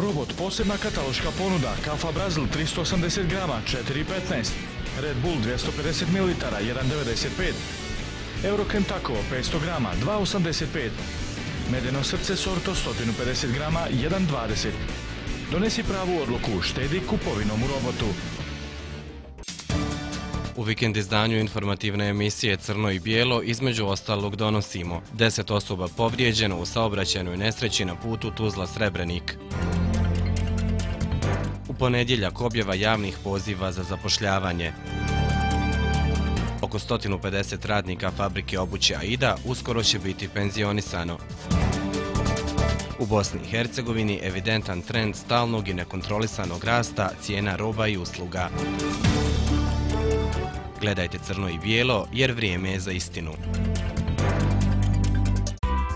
Robot, posebna kataloška ponuda, kafa Brazil 380 grama, 4,15. Red Bull 250 ml, 1,95. Euro Kentucky 500 grama, 2,85. Medeno srce Sorto 150 grama, 1,20. Donesi pravu odluku, štedi kupovinom u Robotu. U vikend izdanju informativne emisije Crno i bijelo između ostalog donosimo 10 osoba povrijeđeno u saobraćajnoj nesreći na putu Tuzla-Srebrenik. U ponedjeljak objava javnih poziva za zapošljavanje. Oko 150 radnika fabrike obuće Aida uskoro će biti penzionisano. U Bosni i Hercegovini evidentan trend stalnog i nekontrolisanog rasta cijena roba i usluga. Gledajte Crno i bijelo jer vrijeme je za istinu.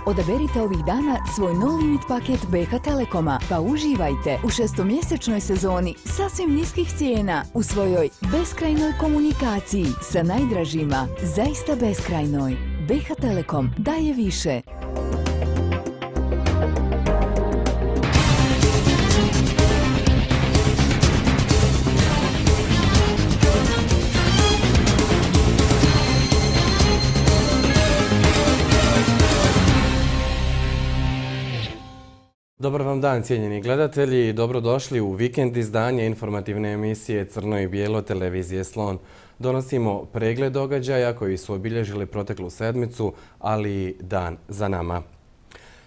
Odaberite ovih dana svoj no limit paket BH Telekoma pa uživajte u šestomjesečnoj sezoni sasvim niskih cijena u svojoj beskrajnoj komunikaciji sa najdražima, zaista beskrajnoj. BH Telekom daje više. Dobar vam dan, cijenjeni gledatelji, dobrodošli u vikend izdanje informativne emisije Crno i bijelo televizije Slon. Donosimo pregled događaja koji su obilježili proteklu sedmicu, ali i dan za nama.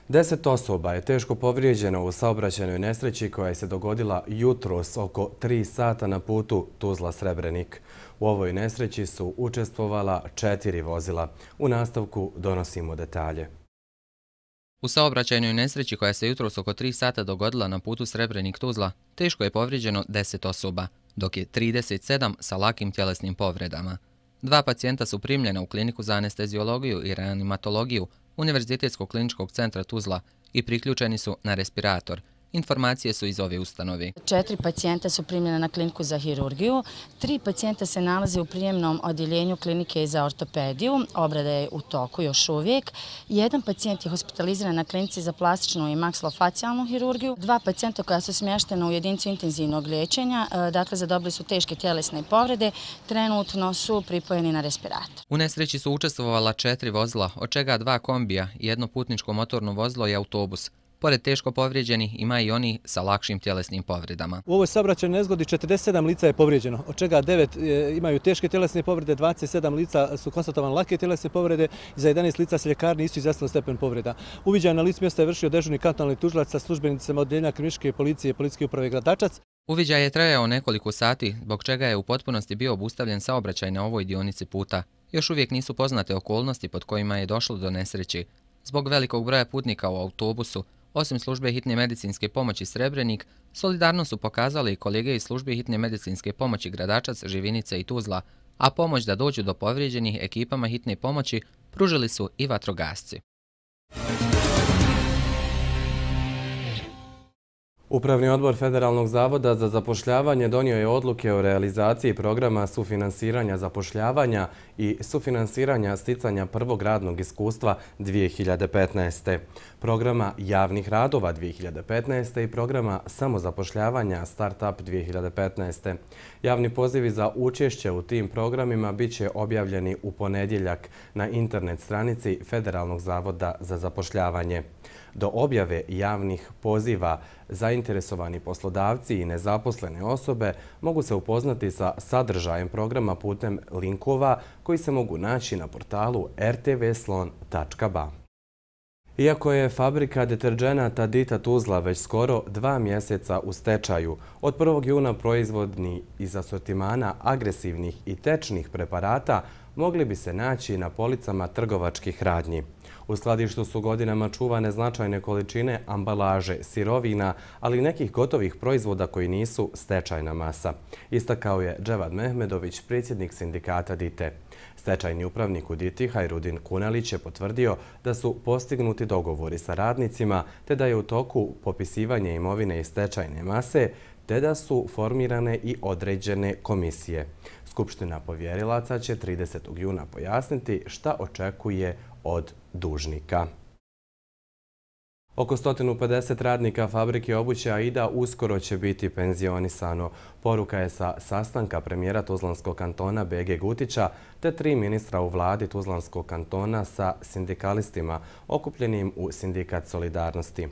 10 osoba je teško povrijeđeno u saobraćajnoj nesreći koja je se dogodila jutros oko 3 sata na putu Tuzla-Srebrenik. U ovoj nesreći su učestvovala 4 vozila. U nastavku donosimo detalje. U saobraćajnoj nesreći koja se jutros oko 3 sata dogodila na putu Srebrenik-Tuzla, teško je povrijeđeno 10 osoba, dok je 37 sa lakim tjelesnim povredama. 2 pacijenta su primljena u kliniku za anesteziologiju i reanimatologiju Univerzitetskog kliničkog centra Tuzla i priključeni su na respirator. Informacije su iz ove ustanove. 4 pacijenta su primljena na kliniku za hirurgiju, 3 pacijenta se nalaze u prijemnom odjeljenju klinike za ortopediju, obrada je u toku još uvijek. 1 pacijent je hospitaliziran na klinici za plastičnu i maksilofacijalnu hirurgiju, 2 pacijenta koja su smještena u jedinicu intenzivnog liječenja, dakle zadobili su teške tjelesne povrede, trenutno su pripojeni na respirator. U nesreći su učestvovala 4 vozila, od čega 2 kombija, 1 putničko motorno vozilo i autobus. Pored teško povrijeđenih ima i oni sa lakšim tjelesnim povredama. U ovoj saobraćajnoj nezgodi 47 lica je povrijeđeno, od čega 9 imaju teške tjelesne povrede, 27 lica su konstatovane lake tjelesne povrede i za 11 lica se ljekarni nisu izjasnili stepen povreda. Uviđaj na licu mjesta je vršio dežurni kantonalni tužilac sa službenicima odjeljenja kriminalističke policije i policijske uprave Gradačac. Uviđaj je trajao nekoliko sati, zbog čega je u potpunosti bio obustavljen saobraćaj na ovoj dionici puta. Još uvijek nisu poznate okolnosti pod kojima je došlo do nesreći. Zbog velikog broja putnika u autobusu, osim službe hitne medicinske pomoći Srebrenik, solidarno su pokazali i kolege iz službe hitne medicinske pomoći Gradačac, Živinica i Tuzla, a pomoć da dođu do povrijeđenih ekipama hitne pomoći pružili su i vatrogasci. Upravni odbor Federalnog zavoda za zapošljavanje donio je odluke o realizaciji programa sufinansiranja zapošljavanja i sufinansiranja sticanja prvog radnog iskustva 2015. Programa javnih radova 2015. i programa samozapošljavanja Startup 2015. Javni pozivi za učešće u tim programima bit će objavljeni u ponedjeljak na internet stranici Federalnog zavoda za zapošljavanje. Do objave javnih poziva zainteresovani poslodavci i nezaposlene osobe mogu se upoznati sa sadržajem programa putem linkova koji se mogu naći na portalu rtvslon.ba. Iako je fabrika deterdženata Dita Tuzla već skoro 2 mjeseca u stečaju, od 1. juna proizvodni iz asortimana agresivnih i tečnih preparata mogli bi se naći na policama trgovačkih radnji. U skladištu su godinama čuvane značajne količine ambalaže, sirovina, ali i nekih gotovih proizvoda koji nisu stečajna masa, istakao je Dževad Mehmedović, predsjednik sindikata Dite. Stečajni upravnik u Diti, Hajrudin Kunalić, je potvrdio da su postignuti dogovori sa radnicima te da je u toku popisivanje imovine iz stečajne mase te da su formirane i određene komisije. Skupština povjerilaca će 30. juna pojasniti šta očekuje od dužnika. Oko 150 radnika fabrike obuće Aida uskoro će biti penzionisano. Poruka je sa sastanka premijera Tuzlanskog kantona BG Gutića te 3 ministra u vladi Tuzlanskog kantona sa sindikalistima okupljenim u Sindikat solidarnosti.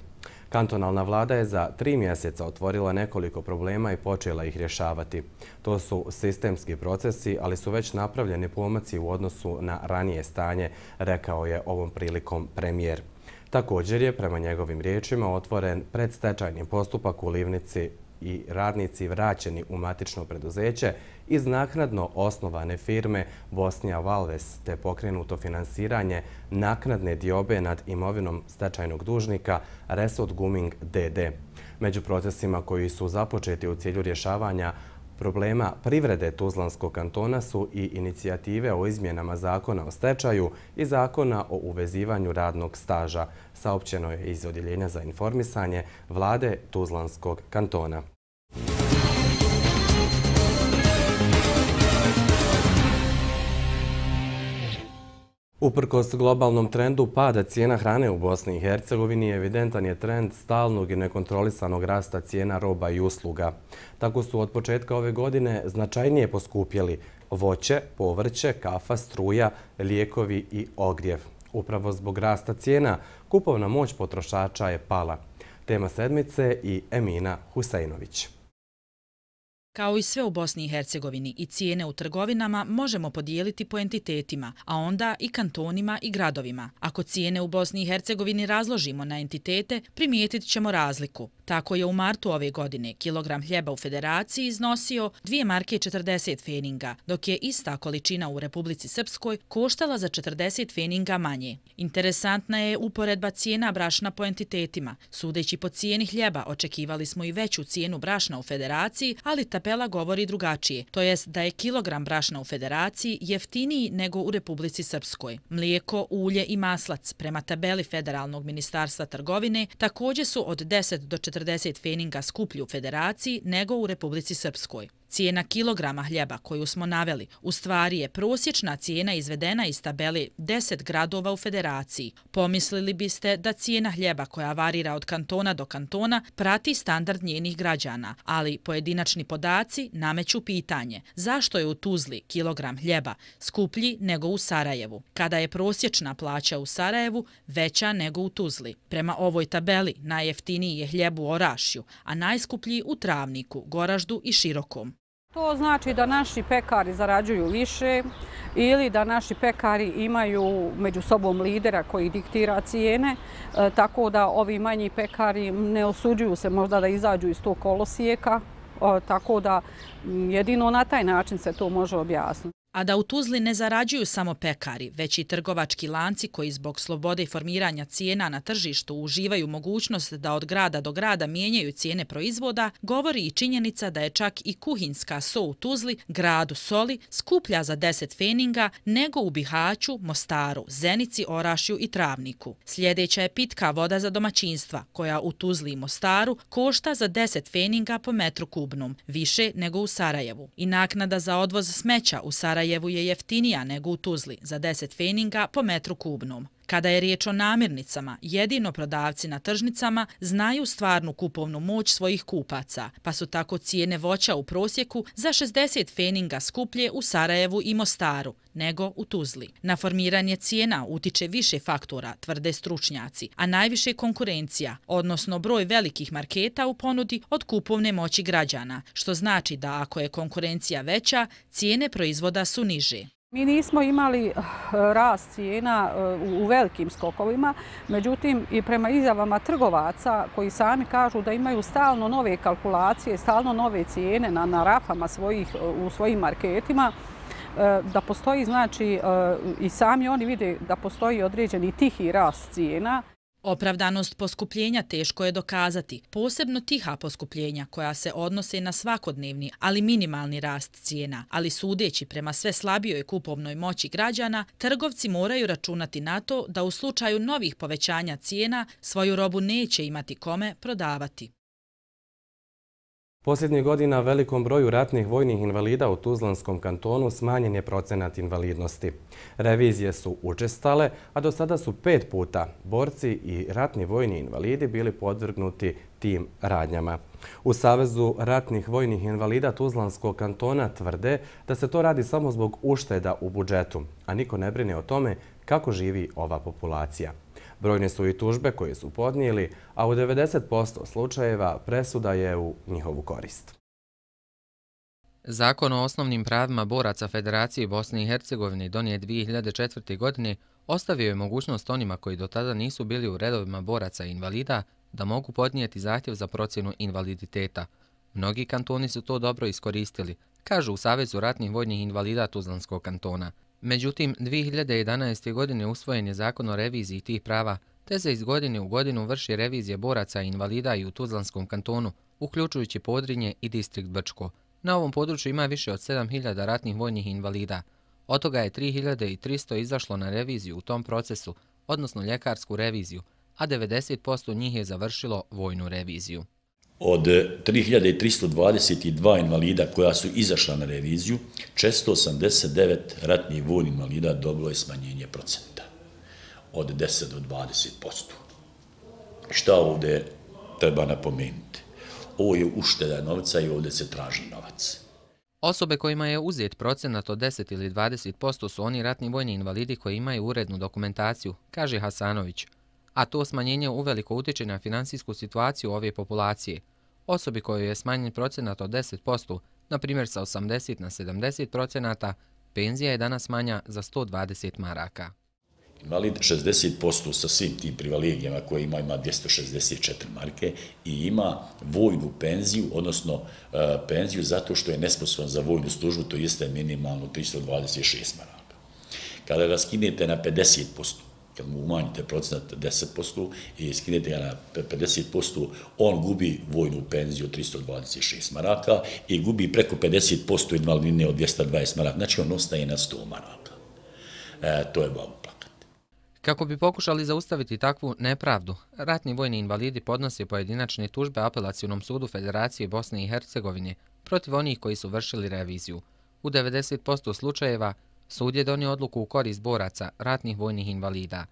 Kantonalna vlada je za 3 mjeseca otvorila nekoliko problema i počela ih rješavati. To su sistemski procesi, ali su već napravljeni pomaci u odnosu na ranije stanje, rekao je ovom prilikom premijer. Također je, prema njegovim riječima, otvoren predstečajni postupak u Livnici i radnici vraćeni u matično preduzeće iz naknadno osnovane firme Bosnija Valves, te pokrenuto finansiranje naknadne diobe nad imovinom stečajnog dužnika Resod Guming d.d. Među procesima koji su započeti u cilju rješavanja problema privrede Tuzlanskog kantona su i inicijative o izmjenama zakona o stečaju i zakona o uvezivanju radnog staža, saopćeno je iz Odjeljenja za informisanje vlade Tuzlanskog kantona. Uprkos globalnom trendu pada cijena hrane u Bosni i Hercegovini, evidentan je trend stalnog i nekontrolisanog rasta cijena roba i usluga. Tako su od početka ove godine značajnije poskupjeli voće, povrće, kafa, struja, lijekovi i ogrjev. Upravo zbog rasta cijena, kupovna moć potrošača je pala. Tema sedmice i Emina Huseinović. Kao i sve u Bosni i Hercegovini, i cijene u trgovinama možemo podijeliti po entitetima, a onda i kantonima i gradovima. Ako cijene u Bosni i Hercegovini razložimo na entitete, primijetit ćemo razliku. Tako je u martu ove godine kilogram hljeba u Federaciji iznosio 2 marke 40 feninga, dok je ista količina u Republici Srpskoj koštala za 40 feninga manje. Interesantna je uporedba cijena brašna po entitetima. Sudeći po cijeni hljeba, očekivali smo i veću cijenu brašna u Federaciji, ali tabela govori drugačije, to jest da je kilogram brašna u Federaciji jeftiniji nego u Republici Srpskoj. Mlijeko, ulje i maslac, prema tabeli Federalnog ministarstva trgovine, također su od 10 do 40 feninga skuplji u Federaciji nego u Republici Srpskoj. Cijena kilograma hljeba koju smo naveli u stvari je prosječna cijena izvedena iz tabele 10 gradova u Federaciji. Pomislili biste da cijena hljeba koja varira od kantona do kantona prati standard njenih građana, ali pojedinačni podaci nameću pitanje zašto je u Tuzli kilogram hljeba skuplji nego u Sarajevu, kada je prosječna plaća u Sarajevu veća nego u Tuzli. Prema ovoj tabeli najjeftiniji je hljeb u Orašju, a najskuplji u Travniku, Goraždu i Širokom. To znači da naši pekari zarađuju više ili da naši pekari imaju među sobom lidera koji diktira cijene, tako da ovi manji pekari ne osuđuju se možda da izađu iz tog kolosijeka, tako da jedino na taj način se to može objasniti. A da u Tuzli ne zarađuju samo pekari, već i trgovački lanci koji zbog slobode formiranja cijena na tržištu uživaju mogućnost da od grada do grada mijenjaju cijene proizvoda, govori i činjenica da je čak i kuhinjska so u Tuzli, gradu soli, skuplja za 10 feninga nego u Bihaću, Mostaru, Zenici, Orašju i Travniku. Sljedeća je pitka voda za domaćinstva, koja u Tuzli i Mostaru košta za 10 feninga po metru kubnom, više nego u Sarajevu. I naknada za odvoz smeća u Sarajevu je jeftinija nego u Tuzli za 10 feninga po metru kubnom. Kada je riječ o namirnicama, jedino prodavci na tržnicama znaju stvarnu kupovnu moć svojih kupaca, pa su tako cijene voća u prosjeku za 60 feninga skuplje u Sarajevu i Mostaru nego u Tuzli. Na formiranje cijena utiče više faktora, tvrde stručnjaci, a najviše konkurencija, odnosno broj velikih marketa u ponudi od kupovne moći građana, što znači da ako je konkurencija veća, cijene proizvoda su niže. Mi nismo imali rast cijena u velikim skokovima, međutim i prema izjavama trgovaca koji sami kažu da imaju stalno nove kalkulacije, stalno nove cijene na rafama u svojim marketima, da postoji, znači, i sami oni vide da postoji određeni tihi rast cijena. Opravdanost poskupljenja teško je dokazati, posebno tiha poskupljenja koja se odnose na svakodnevni, ali minimalni rast cijena, ali sudeći prema sve slabijoj kupovnoj moći građana, trgovci moraju računati na to da u slučaju novih povećanja cijena svoju robu neće imati kome prodavati. Posljednjih godina velikom broju ratnih vojnih invalida u Tuzlanskom kantonu smanjen je procenat invalidnosti. Revizije su učestale, a do sada su 5 puta borci i ratni vojni invalidi bili podvrgnuti tim radnjama. U Savezu ratnih vojnih invalida Tuzlanskog kantona tvrde da se to radi samo zbog ušteda u budžetu, a niko ne brine o tome kako živi ova populacija. Brojne su i tužbe koje su podnijeli, a u 90% slučajeva presuda je u njihovu korist. Zakon o osnovnim pravima boraca Federacije Bosne i Hercegovine donijet 2004. godine ostavio je mogućnost onima koji do tada nisu bili u redovima boraca i invalida da mogu podnijeti zahtjev za procjenu invaliditeta. Mnogi kantoni su to dobro iskoristili, kažu u Savezu ratnih vojnih invalida Tuzlanskog kantona. Međutim, 2011. godine usvojen je zakon o reviziji tih prava, te se iz godine u godinu vrši revizija boraca i invalida i u Tuzlanskom kantonu, uključujući Podrinje i distrikt Brčko. Na ovom području ima više od 7.000 ratnih vojnih invalida. Od toga je 3.300 izašlo na reviziju u tom procesu, odnosno ljekarsku reviziju, a 90% njih je završilo vojnu reviziju. Od 3.322 invalida koja su izašla na reviziju, 489 ratnih vojnih invalida dobilo je smanjenje procenta od 10 do 20%. Šta ovdje treba napomenuti? Ovo je ušteda novca i ovdje se traži novac. Osobe kojima je uzet procenat od 10 ili 20% su oni ratni vojni invalidi koji imaju urednu dokumentaciju, kaže Hasanović, a to smanjenje uveliko utiče na finansijsku situaciju ove populacije. Osobi kojoj je smanjen procenat od 10%, na primjer sa 80 na 70%, penzija je danas manja za 120 maraka. Invalid 60% sa svim tim privilegijama koje ima 264 marke i ima vojnu penziju, odnosno penziju zato što je nesposoban za vojnu službu, to jeste minimalno 326 maraka. Kada ga skinete na 50%, kad mu umanjite procenat 10% i skinete ga na 50%, on gubi vojnu penziju od 326 maraka i gubi preko 50% invalidnine od 220 maraka. Znači on ostaje na 100 maraka. To je bavo plakat. Kako bi pokušali zaustaviti takvu nepravdu, ratni vojni invalidi podnose pojedinačne tužbe Apelacionom sudu Federacije Bosne i Hercegovine protiv onih koji su vršili reviziju. U 90% slučajeva sud je donio odluku u korist boraca ratnih vojnih invalida.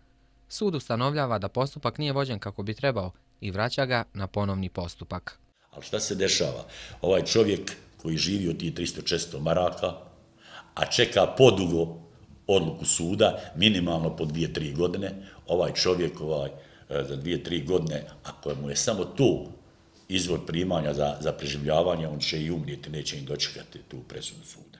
Sud ustanovljava da postupak nije vođen kako bi trebao i vraća ga na ponovni postupak. Ali šta se dešava? Ovaj čovjek koji živi od tih 300-400 maraka, a čeka podugo odluku suda, minimalno po 2-3 godine, ovaj čovjek za 2-3 godine, ako mu je samo to izvor primanja za preživljavanje, on će i umrijeti, neće im dočekati tu presudu suda.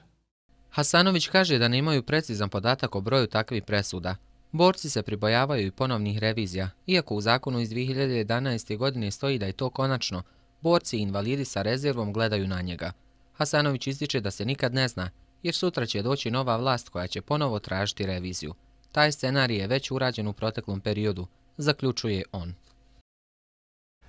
Hasanović kaže da nemaju precizan podatak o broju takvih presuda. Borci se pribojavaju i ponovnih revizija, iako u zakonu iz 2011. godine stoji da je to konačno, borci i invalidi sa rezervom gledaju na njega. Hasanović ističe da se nikad ne zna, jer sutra će doći nova vlast koja će ponovo tražiti reviziju. Taj scenarij je već urađen u proteklom periodu, zaključuje on.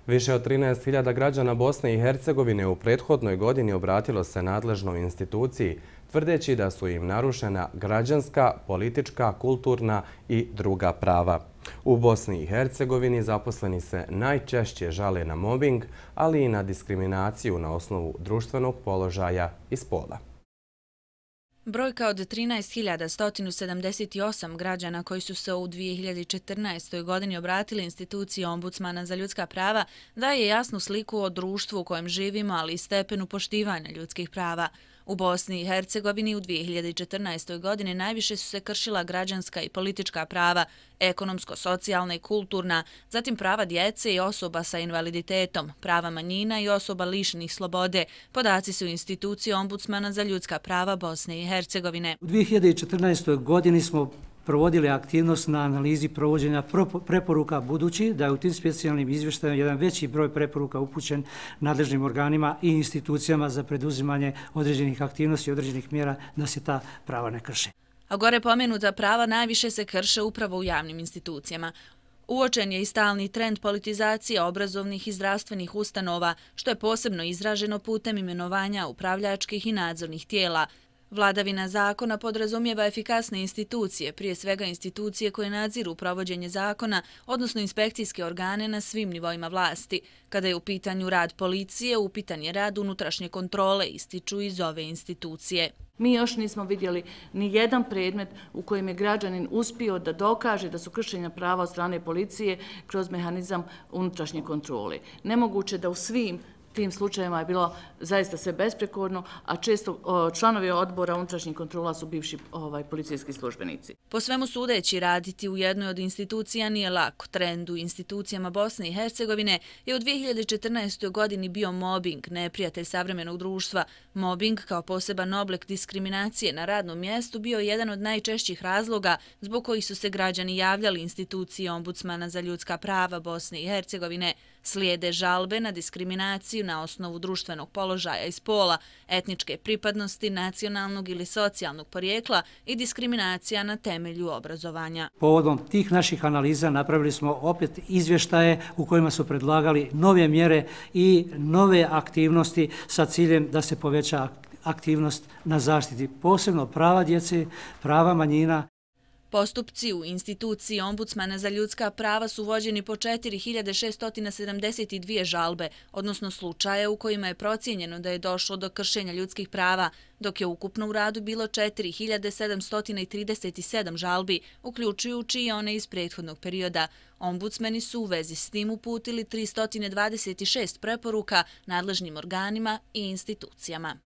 Više od 13.000 građana Bosne i Hercegovine u prethodnoj godini obratilo se nadležnoj instituciji, tvrdeći da su im narušena građanska, politička, kulturna i druga prava. U Bosni i Hercegovini zaposleni se najčešće žale na mobing, ali i na diskriminaciju na osnovu društvenog položaja i spola. Brojka od 13.178 građana koji su se u 2014. godini obratili instituciji Ombudsmana za ljudska prava daje jasnu sliku o društvu u kojem živimo, ali i stepenu poštivanja ljudskih prava. U Bosni i Hercegovini u 2014. godini najviše su se kršila građanska i politička prava, ekonomsko, socijalna i kulturna, zatim prava djece i osoba sa invaliditetom, prava manjina i osoba lišenih slobode. Podaci su institucije Ombudsmana za ljudska prava Bosne i Hercegovine. U 2014. godini smo provodili aktivnost na analizi provođenja preporuka, budući da je u tim specijalnim izvještajima jedan veći broj preporuka upućen nadležnim organima i institucijama za preduzimanje određenih aktivnosti i određenih mjera da se ta prava ne krše. A gore pomenuta prava najviše se krše upravo u javnim institucijama. Uočen je i stalni trend politizacije obrazovnih i zdravstvenih ustanova, što je posebno izraženo putem imenovanja upravljačkih i nadzornih tijela. Vladavina zakona podrazumijeva efikasne institucije, prije svega institucije koje nadziru provođenje zakona, odnosno inspekcijske organe na svim nivoima vlasti. Kada je u pitanju rad policije, upitan je rad unutrašnje kontrole, ističu iz ove institucije. Mi još nismo vidjeli ni jedan predmet u kojem je građanin uspio da dokaže da su kršenja prava od strane policije kroz mehanizam unutrašnje kontrole. Nemoguće da u svim tim slučajevima je bilo zaista sve besprekorno, a često članovi odbora unutrašnjih kontrola su bivši policijski službenici. Po svemu sudeći, raditi u jednoj od institucija nije lako. Trend u institucijama Bosne i Hercegovine je u 2014. godini bio mobbing, neprijatelj savremenog društva. Mobbing kao poseban oblik diskriminacije na radnom mjestu bio je jedan od najčešćih razloga zbog kojih su se građani javljali instituciji Ombudsmana za ljudska prava Bosne i Hercegovine. Slijede žalbe na diskriminaciju na osnovu društvenog položaja i spola, etničke pripadnosti, nacionalnog ili socijalnog porijekla i diskriminacija na temelju obrazovanja. Povodom tih naših analiza napravili smo opet izvještaje u kojima su predlagali nove mjere i nove aktivnosti sa ciljem da se poveća aktivnost na zaštiti, posebno prava djece, prava manjina. Postupci u instituciji Ombudsmana za ljudska prava su vođeni po 4672 žalbe, odnosno slučaje u kojima je procijenjeno da je došlo do kršenja ljudskih prava, dok je ukupno u radu bilo 4737 žalbi, uključujući i one iz prethodnog perioda. Ombudsmeni su u vezi s tim uputili 326 preporuka nadležnim organima i institucijama.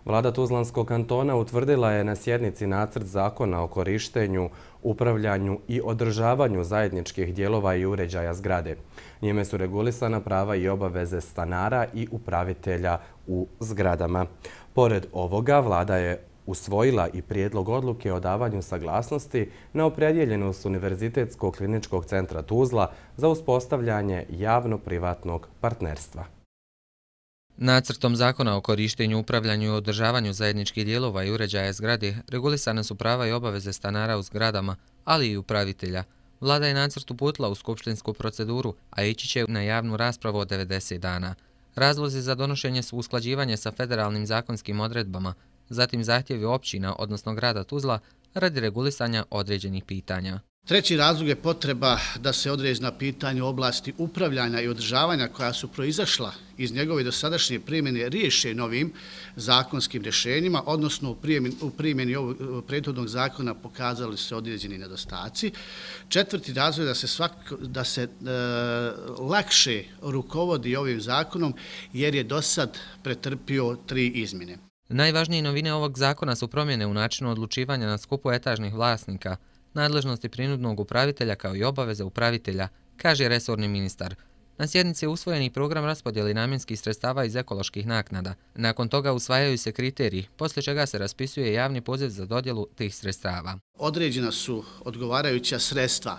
Vlada Tuzlanskog kantona utvrdila je na sjednici nacrt zakona o korištenju, upravljanju i održavanju zajedničkih dijelova i uređaja zgrade. Njime su regulisana prava i obaveze stanara i upravitelja u zgradama. Pored ovoga, vlada je usvojila i prijedlog odluke o davanju saglasnosti na opredjeljenost Univerzitetskog kliničkog centra Tuzla za uspostavljanje javno-privatnog partnerstva. Nacrtom zakona o korištenju, upravljanju i održavanju zajedničkih dijelova i uređaja zgrade regulisane su prava i obaveze stanara u zgradama, ali i upravitelja. Vlada je nacrt uputila u skupštinsku proceduru, a ići će na javnu raspravu od 90 dana. Razlozi za donošenje su usklađivanje sa federalnim zakonskim odredbama, zatim zahtjevi općina, odnosno grada Tuzla, radi regulisanja određenih pitanja. Treći razlog je potreba da se određena pitanja u oblasti upravljanja i održavanja koja su proizašla iz njegove dosadašnje primjene riješe novim zakonskim rješenjima, odnosno u primjeni ovog prethodnog zakona pokazali se određeni nedostaci. Četvrti razlog je da se lakše rukovodi ovim zakonom jer je do sad pretrpio 3 izmjene. Najvažnije novine ovog zakona su promjene u načinu odlučivanja na skupu etažnih vlasnika, nadležnosti prinudnog upravitelja kao i obaveze upravitelja, kaže resorni ministar. Na sjednici je usvojeni program raspodjeli namjenskih sredstava iz ekoloških naknada. Nakon toga usvajaju se kriteriji, poslije čega se raspisuje javni poziv za dodjelu tih sredstava. Određena su odgovarajuća sredstva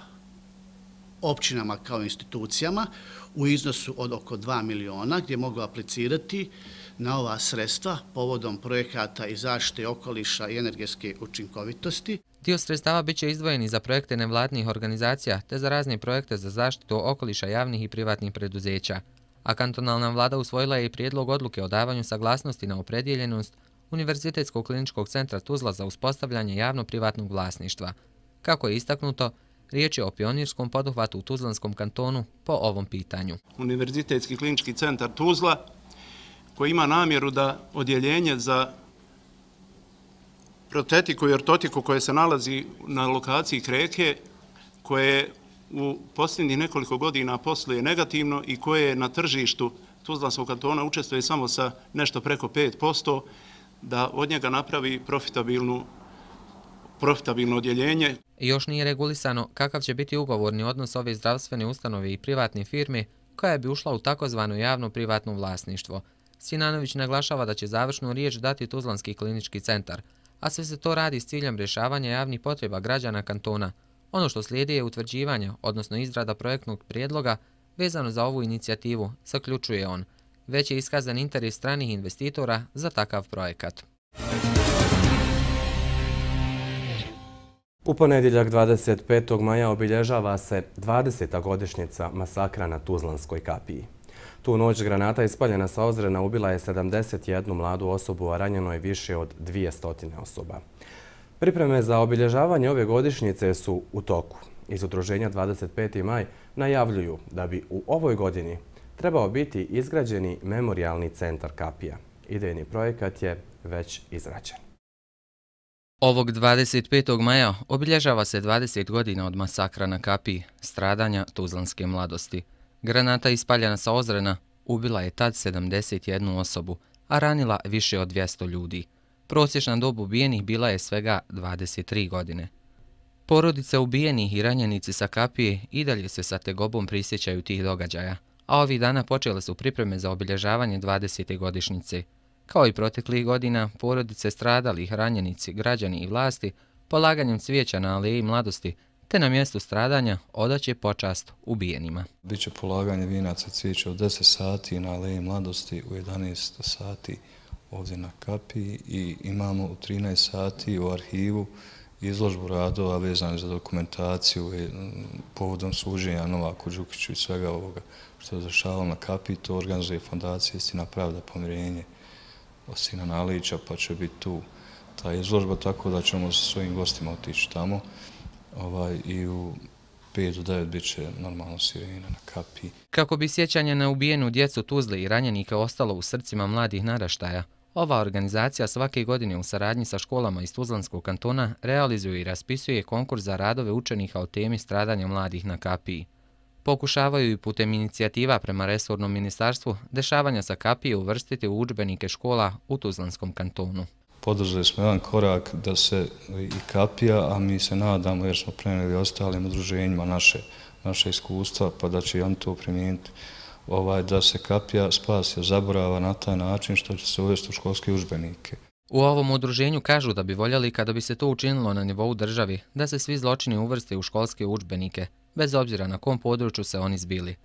općinama kao institucijama u iznosu od oko 2 miliona gdje mogu aplicirati na ova sredstva povodom projekata i zaštite okoliša i energetske učinkovitosti. Dio sredstava biće izdvojeni za projekte nevladnih organizacija te za razne projekte za zaštitu okoliša javnih i privatnih preduzeća. A kantonalna vlada usvojila je i prijedlog odluke o davanju saglasnosti na opredjeljenost Univerzitetskog kliničkog centra Tuzla za uspostavljanje javno-privatnog vlasništva. Kako je istaknuto, riječ je o pionirskom poduhvatu u Tuzlanskom kantonu po ovom pitanju. Univerzitetski klinički centar Tuzla koji ima namjeru da odjeljenje za protetiku i ortotiku koje se nalazi na lokaciji Kreke, koje u posljednjih nekoliko godina posluje negativno i koje na tržištu Tuzlanskog kantona učestvuje samo sa nešto preko 5%, da od njega napravi profitabilno odjeljenje. Još nije regulisano kakav će biti ugovorni odnos ove zdravstvene ustanove i privatne firme koja bi ušla u takozvano javno-privatno vlasništvo. Sinanović naglašava da će završnu riječ dati Tuzlanski klinički centar, a sve se to radi s ciljem rješavanja javnih potreba građana kantona. Ono što slijedi je utvrđivanje, odnosno izrada projektnog prijedloga vezano za ovu inicijativu, zaključuje on. Već je iskazan interes stranih investitora za takav projekat. U ponedjeljak 25. maja obilježava se 20. godišnjica masakra na Tuzlanskoj kapiji. Tu noć granata ispaljena sa Ozrena ubila je 71 mladu osobu, a ranjeno je više od 200 osoba. Pripreme za obilježavanje ove godišnjice su u toku. Iz udruženja 25. maj najavljuju da bi u ovoj godini trebao biti izgrađeni memorijalni centar kapija. Idejni projekat je već izrađen. Ovog 25. maja obilježava se 20 godina od masakra na kapiji, stradanja tuzlanske mladosti. Granata ispaljena sa Ozrena ubila je tad 71 osobu, a ranila više od 200 ljudi. Prosječna dob ubijenih bila je svega 23 godine. Porodice ubijenih i ranjenici sa kapije i dalje se sa tegobom prisjećaju tih događaja, a ovih dana počele su pripreme za obilježavanje 20. godišnjice. Kao i proteklih godina, porodice stradalih, ranjenici, građani i vlasti polaganjem cvijeća na aleji mladosti te na mjestu stradanja odaće počast ubijenima. Biće polaganje vijenaca cvijeća u 10 sati na aleji mladosti, u 11 sati ovdje na kapiji i imamo u 13 sati u arhivu izložbu radova vezane za dokumentaciju povodom suđenja Novaku Đukiću i svega ovoga što je zašavalo na kapiji. To organizuje Fondacija Istina, pravda, pomirenje Sina Nalića, pa će biti tu ta izložba, tako da ćemo sa svojim gostima otići tamo i u 5 do 9 bit će normalno sirena na kapiji. Kako bi sjećanje na ubijenu djecu Tuzle i ranjenika ostalo u srcima mladih naraštaja, ova organizacija svake godine u saradnji sa školama iz Tuzlanskog kantona realizuje i raspisuje konkurs za radove učenika o temi stradanja mladih na kapiji. Pokušavaju i putem inicijativa prema resornom ministarstvu dešavanja sa kapije uvrstiti u udžbenike škola u Tuzlanskom kantonu. Poduzeli smo jedan korak da se i kapija, a mi se nadamo jer smo prenijeli ostalim udruženjima naše iskustva, pa da će i on to primijeniti, da se kapija spasi od zaborava na taj način što će se uvesti u školske udžbenike. U ovom udruženju kažu da bi voljeli kada bi se to učinilo na nivou državi, da se svi zločini uvrste u školske udžbenike, bez obzira na kom području se oni zbili.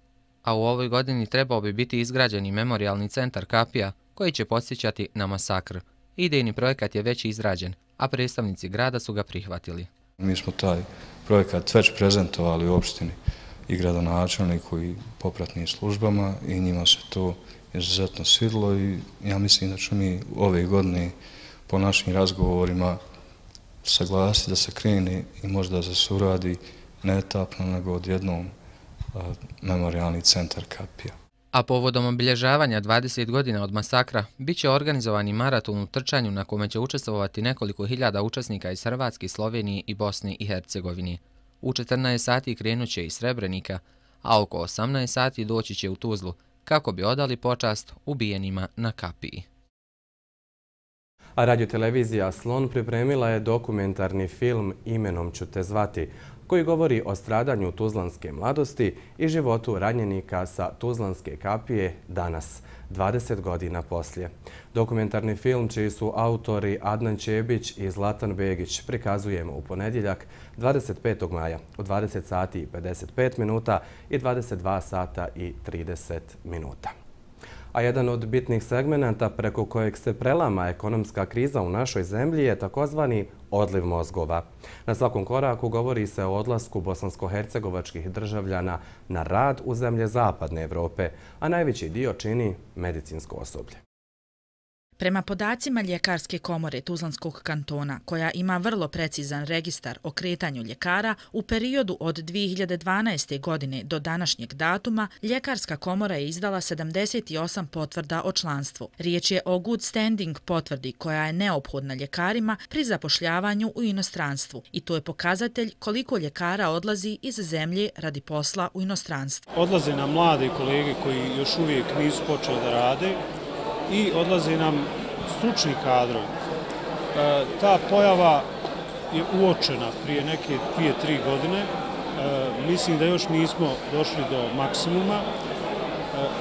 A u ovoj godini trebao bi biti izgrađeni memorijalni centar kapija koji će podsjećati na masakr. Idejni projekat je već izrađen, a predstavnici grada su ga prihvatili. Mi smo taj projekat već prezentovali u opštini i gradonačelniku i popratnim službama i njima se to izuzetno svidilo i ja mislim da ću mi ove godine po našim razgovorima saglasiti da se krene i možda da se uradi ne etapno nego odjednom memorijalni centar kapija. A povodom obilježavanja 20 godina od masakra bit će organizovani maraton u trčanju na kome će učestvovati nekoliko hiljada učesnika iz Hrvatske, Slovenije i Bosne i Hercegovine. U 14 sati krenut će iz Srebrenika, a oko 18 sati doći će u Tuzlu kako bi odali počast ubijenima na kapiji. A radiotelevizija Slon pripremila je dokumentarni film Imenom ću te zvati, koji govori o stradanju tuzlanske mladosti i životu ranjenika sa Tuzlanske kapije danas, 20 godina poslije. Dokumentarni film, čiji su autori Adnan Čebić i Zlatan Begić, prikazujemo u ponedjeljak 25. maja u 20 sati i 55 minuta i 22 sata i 30 minuta. A jedan od bitnih segmenata preko kojeg se prelama ekonomska kriza u našoj zemlji je takozvani odliv mozgova. Na svakom koraku govori se o odlasku bosansko-hercegovačkih državljana na rad u zemlje Zapadne Evrope, a najveći dio čini medicinsko osoblje. Prema podacima Ljekarske komore Tuzlanskog kantona, koja ima vrlo precizan registar o kretanju ljekara, u periodu od 2012. godine do današnjeg datuma, Ljekarska komora je izdala 78 potvrda o članstvu. Riječ je o good standing potvrdi koja je neophodna ljekarima pri zapošljavanju u inostranstvu i to je pokazatelj koliko ljekara odlazi iz zemlje radi posla u inostranstvu. Odlaze nam mlade kolege koji još uvijek nisu počeli da rade i odlaze nam stručni kadrovi. Ta pojava je uočena prije neke 2-3 godine. Mislim da još nismo došli do maksimuma.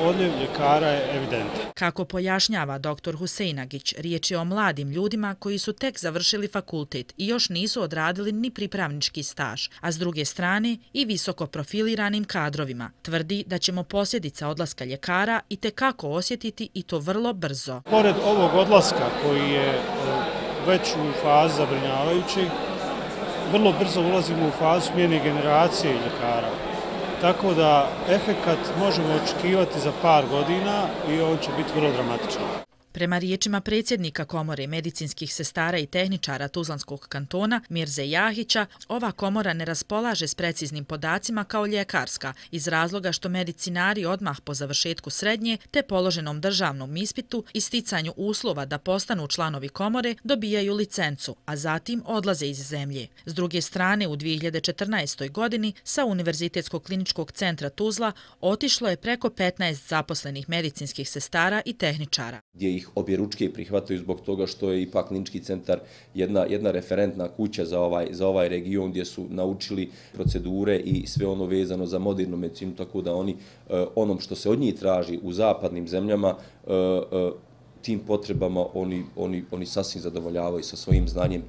Odljev ljekara je evidentan. Kako pojašnjava dr. Huseinagić, riječ je o mladim ljudima koji su tek završili fakultet i još nisu odradili ni pripravnički staž, a s druge strane i visoko profiliranim kadrovima. Tvrdi da ćemo posljedica odlaska ljekara i tekako osjetiti i to vrlo brzo. Pored ovog odlaska koji je već u fazi zabrinjavajućeg, vrlo brzo ulazimo u fazu smjene generacije ljekara. tako da efekat možemo očekivati za par godina i on će biti vrlo dramatičan. Prema riječima predsjednika Komore medicinskih sestara i tehničara Tuzlanskog kantona Mirze Jahića, ova komora ne raspolaže s preciznim podacima kao ljekarska iz razloga što medicinari odmah po završetku srednje te položenom državnom ispitu i sticanju uslova da postanu članovi komore dobijaju licencu, a zatim odlaze iz zemlje. S druge strane, u 2014. godini sa Univerzitetskog kliničkog centra Tuzla otišlo je preko 15 zaposlenih medicinskih sestara i tehničara. Gdje ih objeručke prihvataju zbog toga što je ipak klinički centar jedna referentna kuća za ovaj region gdje su naučili procedure i sve ono vezano za modernu medicinu, tako da oni onom što se od njih traži u zapadnim zemljama tim potrebama oni sasvim zadovoljavaju sa svojim znanjem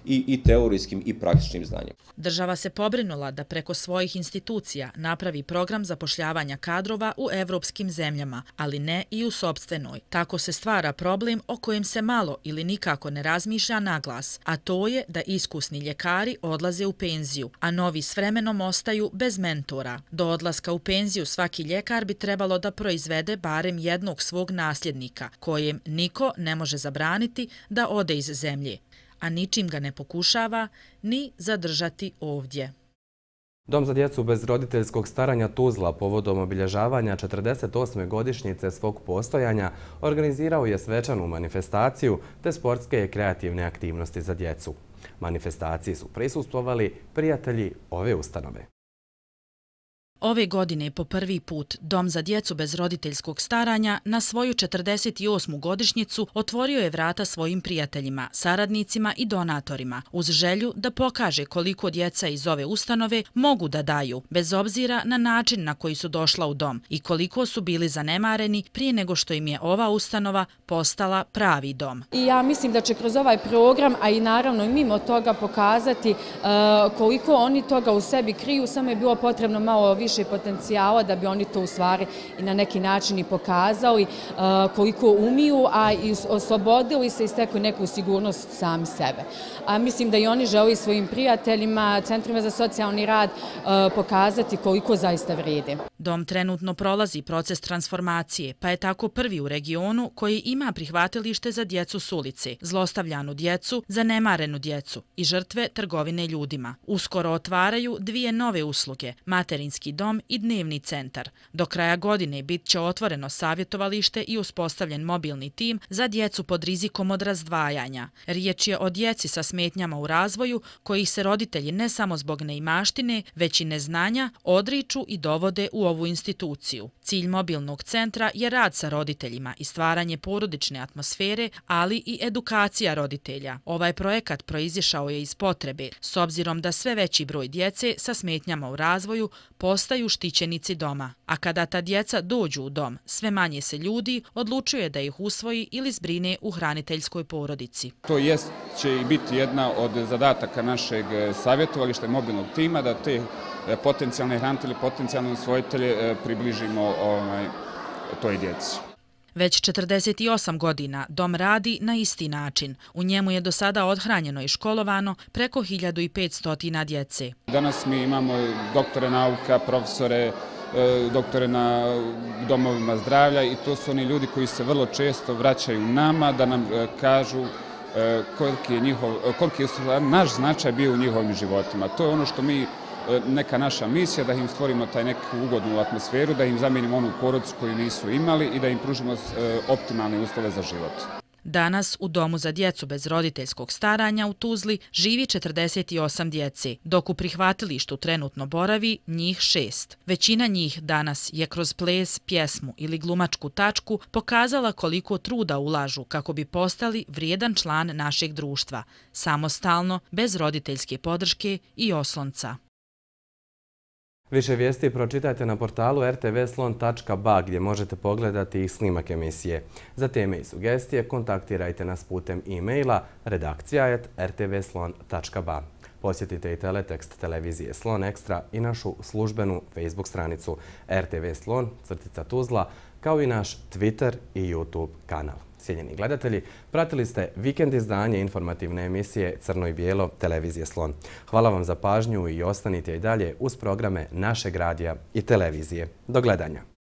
i teorijskim i praktičnim znanjem. Država se pobrinula da preko svojih institucija napravi program zapošljavanja kadrova u evropskim zemljama, ali ne i u sopstvenoj. Tako se stvara problem o kojem se malo ili nikako ne razmišlja naglas, a to je da iskusni ljekari odlaze u penziju, a novi s vremenom ostaju bez mentora. Do odlaska u penziju svaki ljekar bi trebalo da proizvede barem jednog svog nasljednika, kojem niko ne može zabraniti da ode iz zemlje, a ničim ga ne pokušava ni zadržati ovdje. Dom za djecu bez roditeljskog staranja Tuzla povodom obilježavanja 48. godišnjice svog postojanja organizirao je svečanu manifestaciju te sportske i kreativne aktivnosti za djecu. Manifestaciji su prisustvovali prijatelji ove ustanove. Ove godine po prvi put Dom za djecu bez roditeljskog staranja na svoju 48. godišnjicu otvorio je vrata svojim prijateljima, saradnicima i donatorima uz želju da pokaže koliko djeca iz ove ustanove mogu da daju, bez obzira na način na koji su došla u dom i koliko su bili zanemareni prije nego što im je ova ustanova postala pravi dom. I ja mislim da će kroz ovaj program, a i naravno i mimo toga pokazati koliko oni toga u sebi kriju, samo je bilo potrebno malo više potencijala da bi oni to u stvari i na neki način i pokazali koliko umiju, a i oslobodili se i stekli neku sigurnost sami sebe. A mislim da i oni žele svojim prijateljima, centrima za socijalni rad pokazati koliko zaista vrijede. Dom trenutno prolazi proces transformacije, pa je tako prvi u regionu koji ima prihvatilište za djecu s ulice, zlostavljanu djecu, zanemarenu djecu i žrtve trgovine ljudima. Uskoro otvaraju dvije nove usluge, materinski dom i dnevni centar. Do kraja godine bit će otvoreno savjetovalište i uspostavljen mobilni tim za djecu pod rizikom od razdvajanja. Riječ je o djeci sa smetnjama u razvoju kojih se roditelji ne samo zbog neimaštine, već i neznanja odriču i dovode u ovu instituciju. Cilj mobilnog centra je rad sa roditeljima i stvaranje porodične atmosfere, ali i edukacija roditelja. Ovaj projekat proizišao je iz potrebe, s obzirom da sve veći broj djece sa smetnjama u razvoju postaju štićenici doma, a kada ta djeca dođu u dom, sve manje se ljudi odlučuje da ih usvoji ili zbrine u hraniteljskoj porodici. To će i biti jedna od zadataka našeg savjetovališta i mobilnog tima, da te potencijalne hranitelje, potencijalne usvojitelje približimo toj djeci. Već 48 godina dom radi na isti način. U njemu je do sada odhranjeno i školovano preko 1500 djece. Danas mi imamo doktore nauka, profesore, doktore na domovima zdravlja i to su oni ljudi koji se vrlo često vraćaju nama da nam kažu koliki je naš značaj bio u njihovim životima. To je ono što neka naša misija, da im stvorimo taj neku ugodnu atmosferu, da im zamijenimo onu porodicu koju nisu imali i da im pružimo optimalne uslove za život. Danas u Domu za djecu bez roditeljskog staranja u Tuzli živi 48 djece, dok u prihvatilištu trenutno boravi njih 6. Većina njih danas je kroz ples, pjesmu ili glumačku tačku pokazala koliko truda ulažu kako bi postali vrijedan član našeg društva, samostalno, bez roditeljske podrške i oslonca. Više vijesti pročitajte na portalu rtvslon.ba gdje možete pogledati i snimak emisije. Za teme i sugestije kontaktirajte nas putem e-maila redakcija@rtvslon.ba. Posjetite i teletekst televizije Slon Extra i našu službenu Facebook stranicu RTV Slon _Tuzla, kao i naš Twitter i YouTube kanal. Cijenjeni gledatelji, pratili ste vikend izdanje informativne emisije Crno i bijelo televizije Slon. Hvala vam za pažnju i ostanite i dalje uz programe našeg radija i televizije. Do gledanja.